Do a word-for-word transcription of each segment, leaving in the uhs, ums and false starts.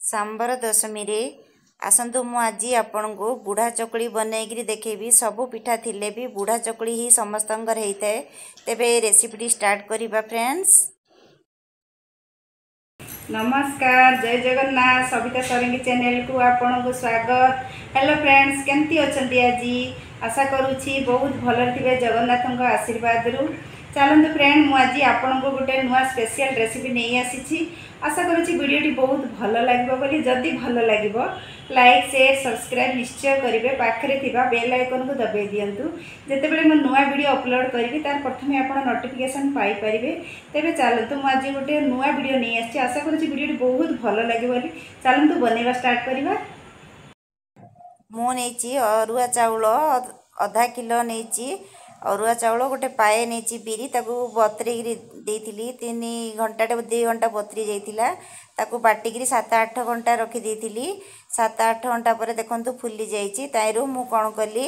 ସାମ୍ବର ଦଶମୀରେ ଆସନ୍ତୁ, ମୁଁ ଆଜି ଆପଣଙ୍କୁ ବୁଢ଼ା ଚକୁଳି ବନେଇକିରି ଦେଖେଇବି। ସବୁ ପିଠା ଥିଲେ ବି ବୁଢ଼ା ଚକୁଳି ହିଁ ସମସ୍ତଙ୍କର ହେଇଥାଏ। ତେବେ ଏ ରେସିପିଟି ଷ୍ଟାର୍ଟ କରିବା ଫ୍ରେଣ୍ଡସ୍। ନମସ୍କାର, ଜୟ ଜଗନ୍ନାଥ। ସବିତା ସରଙ୍ଗୀ ଚ୍ୟାନେଲକୁ ଆପଣଙ୍କୁ ସ୍ୱାଗତ। ହ୍ୟାଲୋ ଫ୍ରେଣ୍ଡସ୍, କେମିତି ଅଛନ୍ତି ଆଜି? ଆଶା କରୁଛି ବହୁତ ଭଲରେ ଥିବେ ଜଗନ୍ନାଥଙ୍କ ଆଶୀର୍ବାଦରୁ। ଚାଲନ୍ତୁ ଫ୍ରେଣ୍ଡ, ମୁଁ ଆଜି ଆପଣଙ୍କୁ ଗୋଟେ ନୂଆ ସ୍ପେଶିଆଲ ରେସିପି ନେଇ ଆସିଛି। ଆଶା କରୁଛି ଭିଡ଼ିଓଟି ବହୁତ ଭଲ ଲାଗିବ ବୋଲି। ଯଦି ଭଲ ଲାଗିବ, ଲାଇକ୍, ସେୟାର, ସବସ୍କ୍ରାଇବ୍ ନିଶ୍ଚୟ କରିବେ। ପାଖରେ ଥିବା ବେଲ୍ ଆଇକନ୍କୁ ଦବାଇ ଦିଅନ୍ତୁ। ଯେତେବେଳେ ମୁଁ ନୂଆ ଭିଡ଼ିଓ ଅପଲୋଡ଼ କରିବି, ତାର ପ୍ରଥମେ ଆପଣ ନୋଟିଫିକେସନ୍ ପାଇପାରିବେ। ତେବେ ଚାଲନ୍ତୁ, ମୁଁ ଆଜି ଗୋଟେ ନୂଆ ଭିଡ଼ିଓ ନେଇ ଆସିଛି। ଆଶା କରୁଛି ଭିଡ଼ିଓଟି ବହୁତ ଭଲ ଲାଗିବ ବୋଲି। ଚାଲନ୍ତୁ, ବନେଇବା ଷ୍ଟାର୍ଟ କରିବା। ମୁଁ ନେଇଛି ଅରୁଆ ଚାଉଳ ଅଧା କିଲୋ ନେଇଛି ଅରୁଆ ଚାଉଳ, ଗୋଟେ ପାଏ ନେଇଛି ବିରି। ତାକୁ ବତୁରେଇକିରି ଦେଇଥିଲି ତିନି ଘଣ୍ଟାଟେ, ଦୁଇ ଘଣ୍ଟା ବତୁରି ଯାଇଥିଲା। ତାକୁ ବାଟିକିରି ସାତ ଆଠ ଘଣ୍ଟା ରଖିଦେଇଥିଲି। ସାତ ଆଠ ଘଣ୍ଟା ପରେ ଦେଖନ୍ତୁ ଫୁଲି ଯାଇଛି। ତାଇରୁ ମୁଁ କ'ଣ କଲି,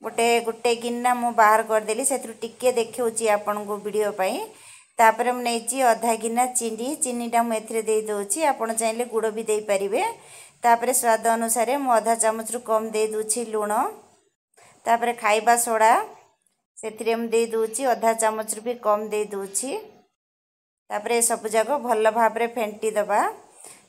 ଗୋଟେ ଗୋଟେ ଗିନା ମୁଁ ବାହାର କରିଦେଲି। ସେଥିରୁ ଟିକେ ଦେଖାଉଛି ଆପଣଙ୍କୁ ଭିଡ଼ିଓ ପାଇଁ। ତାପରେ ମୁଁ ନେଇଛି ଅଧା ଗିନା ଚିନି। ଚିନିଟା ମୁଁ ଏଥିରେ ଦେଇଦେଉଛି। ଆପଣ ଚାହିଁଲେ ଗୁଡ଼ ବି ଦେଇପାରିବେ। ତାପରେ ସ୍ୱାଦ ଅନୁସାରେ ମୁଁ ଅଧା ଚାମଚରୁ କମ୍ ଦେଇଦେଉଛି ଲୁଣ। ତାପରେ ଖାଇବା ସୋଡ଼ା ସେଥିରେ ମୁଁ ଦେଇଦେଉଛି, ଅଧା ଚାମଚରୁ ବି କମ୍ ଦେଇଦେଉଛି। ତାପରେ ଏସବୁ ଯାକ ଭଲ ଭାବରେ ଫେଣ୍ଟି ଦେବା।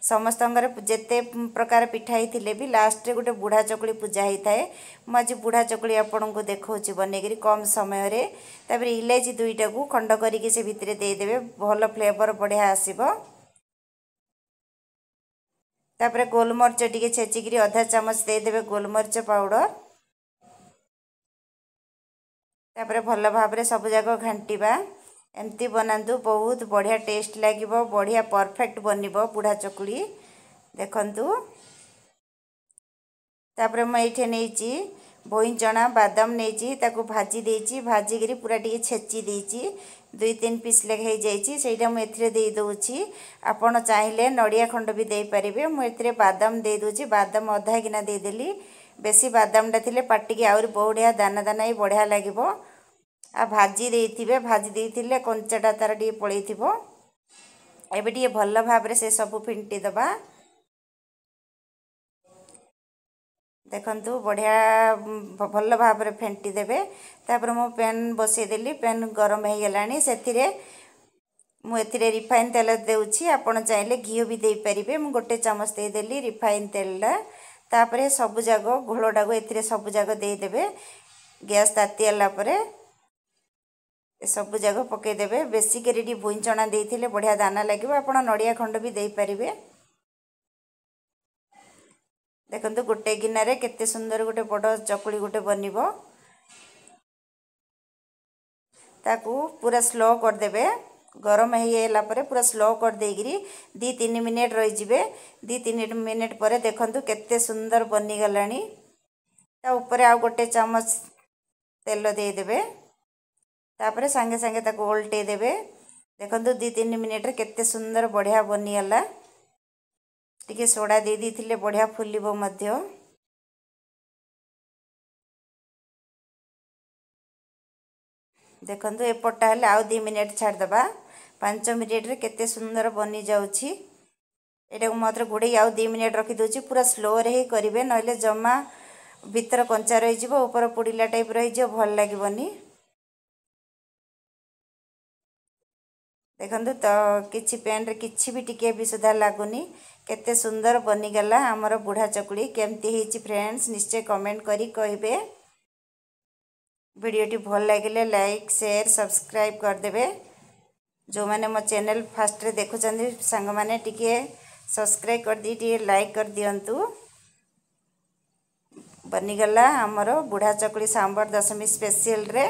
ସମସ୍ତଙ୍କର ଯେତେ ପ୍ରକାର ପିଠା ହେଇଥିଲେ ବି ଲାଷ୍ଟରେ ଗୋଟେ ବୁଢ଼ା ଚକୁଳି ପୂଜା ହେଇଥାଏ। ମୁଁ ଆଜି ବୁଢ଼ା ଚକୁଳି ଆପଣଙ୍କୁ ଦେଖାଉଛି ବନେଇକିରି କମ୍ ସମୟରେ। ତାପରେ ଇଲାଇଚି ଦୁଇଟାକୁ ଖଣ୍ଡ କରିକି ସେ ଭିତରେ ଦେଇଦେବେ, ଭଲ ଫ୍ଲେଭର ବଢ଼ିଆ ଆସିବ। ତାପରେ ଗୋଲମରିଚ ଟିକେ ଛେଚିକିରି ଅଧା ଚାମଚ ଦେଇଦେବେ ଗୋଲମରିଚ ପାଉଡ଼ର। ତାପରେ ଭଲ ଭାବରେ ସବୁଯାକ ଘାଣ୍ଟିବା। ଏମିତି ବନାନ୍ତୁ, ବହୁତ ବଢ଼ିଆ ଟେଷ୍ଟ ଲାଗିବ, ବଢ଼ିଆ ପରଫେକ୍ଟ ବନିବ ବୁଢ଼ା ଚକୁଳି। ଦେଖନ୍ତୁ, ତାପରେ ମୁଁ ଏଇଠି ନେଇଛି ଚଣା ବାଦାମ ନେଇଛି, ତାକୁ ଭାଜି ଦେଇଛି। ଭାଜିକିରି ପୁରା ଟିକେ ଛେଚି ଦେଇଛି, ଦୁଇ ତିନି ପିସ୍ ଲେଖା ହେଇଯାଇଛି। ସେଇଟା ମୁଁ ଏଥିରେ ଦେଇଦେଉଛି। ଆପଣ ଚାହିଁଲେ ନଡ଼ିଆ ଖଣ୍ଡ ବି ଦେଇପାରିବେ। ମୁଁ ଏଥିରେ ବାଦାମ ଦେଇଦେଉଛି। ବାଦାମ ଅଧା କିନା ଦେଇଦେଲି। ବେଶୀ ବାଦାମଟା ଥିଲେ ପାଟିକି ଆହୁରି ବଢ଼ିଆ ଦାନା ଦାନା ହେଇ ବଢ଼ିଆ ଲାଗିବ। ଆଉ ଭାଜି ଦେଇଥିବେ, ଭାଜି ଦେଇଥିଲେ କଞ୍ଚାଟା ତାର ଟିକେ ପଳେଇଥିବ। ଏବେ ଟିକେ ଭଲ ଭାବରେ ସେ ସବୁ ଫିଣ୍ଟି ଦେବା। ଦେଖନ୍ତୁ, ବଢ଼ିଆ ଭଲ ଭାବରେ ଫେଣ୍ଟି ଦେବେ। ତାପରେ ମୁଁ ପ୍ୟାନ୍ ବସେଇଦେଲି। ପ୍ୟାନ୍ ଗରମ ହେଇଗଲାଣି। ସେଥିରେ ମୁଁ ଏଥିରେ ରିଫାଇନ୍ ତେଲ ଦେଉଛି। ଆପଣ ଚାହିଁଲେ ଘିଅ ବି ଦେଇପାରିବେ। ମୁଁ ଗୋଟେ ଚାମଚ ଦେଇଦେଲି ରିଫାଇନ୍ ତେଲଟା। ତାପରେ ସବୁଯାକ ଘୋଳଟାକୁ ଏଥିରେ ସବୁଯାକ ଦେଇଦେବେ। ଗ୍ୟାସ୍ ତାତିଗଲା ପରେ ସବୁଯାକ ପକାଇଦେବେ। ବେଶୀ କରି ଟିକେ ଭୁଇଁ ଚଣା ଦେଇଥିଲେ ବଢ଼ିଆ ଦାନା ଲାଗିବ। ଆପଣ ନଡ଼ିଆ ଖଣ୍ଡ ବି ଦେଇପାରିବେ। ଦେଖନ୍ତୁ, ଗୋଟେ ଗିନାରେ କେତେ ସୁନ୍ଦର ଗୋଟେ ବଡ଼ ଚକୁଳି ଗୋଟେ ବନିବ। ତାକୁ ପୁରା ସ୍ଲୋ କରିଦେବେ। ଗରମ ହେଇଗଲା ପରେ ପୁରା ସ୍ଲୋ କରିଦେଇକିରି ଦୁଇ ତିନି ମିନିଟ୍ ରହିଯିବେ। ଦୁଇ ତିନି ମିନିଟ୍ ପରେ ଦେଖନ୍ତୁ କେତେ ସୁନ୍ଦର ବନିଗଲାଣି। ତା ଉପରେ ଆଉ ଗୋଟେ ଚାମଚ ତେଲ ଦେଇଦେବେ। ତାପରେ ସାଙ୍ଗେ ସାଙ୍ଗେ ତାକୁ ଓଲଟେଇ ଦେବେ। ଦେଖନ୍ତୁ, ଦୁଇ ତିନି ମିନିଟ୍ରେ କେତେ ସୁନ୍ଦର ବଢ଼ିଆ ବନିଗଲା। ଟିକେ ସୋଡ଼ା ଦେଇ ଦେଇଥିଲେ ବଢ଼ିଆ ଫୁଲିବ ମଧ୍ୟ। ଦେଖନ୍ତୁ, ଏପଟଟା ହେଲେ ଆଉ ଦୁଇ ମିନିଟ୍ ଛାଡ଼ିଦେବା। ପାଞ୍ଚ ମିନିଟ୍ରେ କେତେ ସୁନ୍ଦର ବନିଯାଉଛି। ଏଇଟାକୁ ମାତ୍ର ଘୋଡ଼େଇ ଆଉ ଦୁଇ ମିନିଟ୍ ରଖିଦେଉଛି। ପୁରା ସ୍ଲୋରେ ହିଁ କରିବେ, ନହେଲେ ଜମା ଭିତର କଞ୍ଚା ରହିଯିବ, ଉପର ପୋଡ଼ିଲା ଟାଇପ୍ ରହିଯିବ, ଭଲ ଲାଗିବନି। ଦେଖନ୍ତୁ ତ, କିଛି ପ୍ୟାନ୍ରେ କିଛି ବି ଟିକେ ବି ସୁଦ୍ଧା ଲାଗୁନି। କେତେ ସୁନ୍ଦର ବନିଗଲା ଆମର ବୁଢ଼ା ଚକୁଳି। କେମିତି ହେଇଛି ଫ୍ରେଣ୍ଡସ୍, ନିଶ୍ଚୟ କମେଣ୍ଟ କରି କହିବେ। ଭିଡ଼ିଓଟି ଭଲ ଲାଗିଲେ ଲାଇକ୍, ସେୟାର, ସବସ୍କ୍ରାଇବ୍ କରିଦେବେ। ଯେଉଁମାନେ ମୋ ଚ୍ୟାନେଲ୍ ଫାଷ୍ଟରେ ଦେଖୁଛନ୍ତି ସାଙ୍ଗମାନେ, ଟିକେ ସବସ୍କ୍ରାଇବ୍ କରିଦେଇ ଟିକେ ଲାଇକ୍ କରିଦିଅନ୍ତୁ। ବନିଗଲା ଆମର ବୁଢ଼ା ଚକୁଳି ସାମ୍ବର ଦଶମୀ ସ୍ପେସିଆଲରେ।